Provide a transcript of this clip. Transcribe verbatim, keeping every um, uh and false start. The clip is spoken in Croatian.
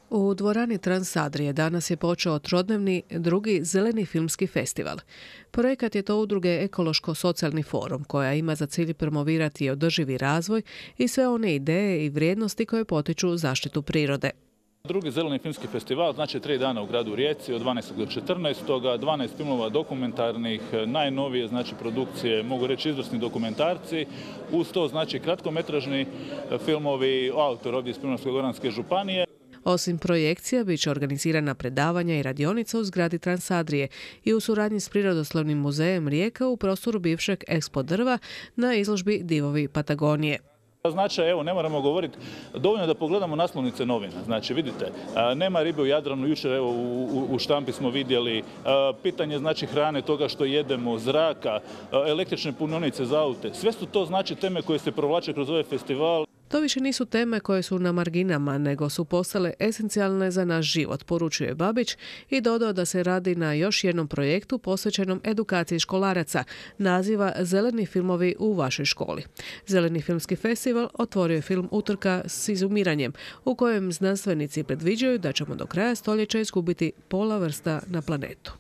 U dvorani Transadrije danas je počeo trodnevni drugi zeleni filmski festival. Projekat je to udruge Ekološko-socijalni forum, koja ima za cilj promovirati održivi razvoj i sve one ideje i vrijednosti koje potiču zaštitu prirode. Drugi zeleni filmski festival znači tri dana u gradu Rijeci od dvanaestog do četrnaestog dvanaest filmova dokumentarnih, najnovije znači produkcije, mogu reći izvrsni dokumentarci, uz to znači kratkometražni filmovi, autor ovdje iz Primorsko-goranske županije. Osim projekcija, bit će organizirana predavanja i radionica u zgradi Transadrije i u suradnji s Prirodoslovnim muzejem Rijeka u prostoru bivšeg Expo drva na izložbi Divovi Patagonije. Znači, evo, ne moramo govoriti, dovoljno da pogledamo naslovnice novina. Znači, vidite, nema ribe u Jadranu, jučer evo u, u štampi smo vidjeli, pitanje znači hrane, toga što jedemo, zraka, električne punionice za aute. Sve su to znači teme koje se provlače kroz ovaj festival. To više nisu teme koje su na marginama, nego su postale esencijalne za naš život, poručuje Babić i dodao da se radi na još jednom projektu posvećenom edukaciji školaraca, naziva Zeleni filmovi u vašoj školi. Zeleni filmski festival otvorio je film Utrka s izumiranjem, u kojem znanstvenici predviđaju da ćemo do kraja stoljeća izgubiti pola vrsta na planetu.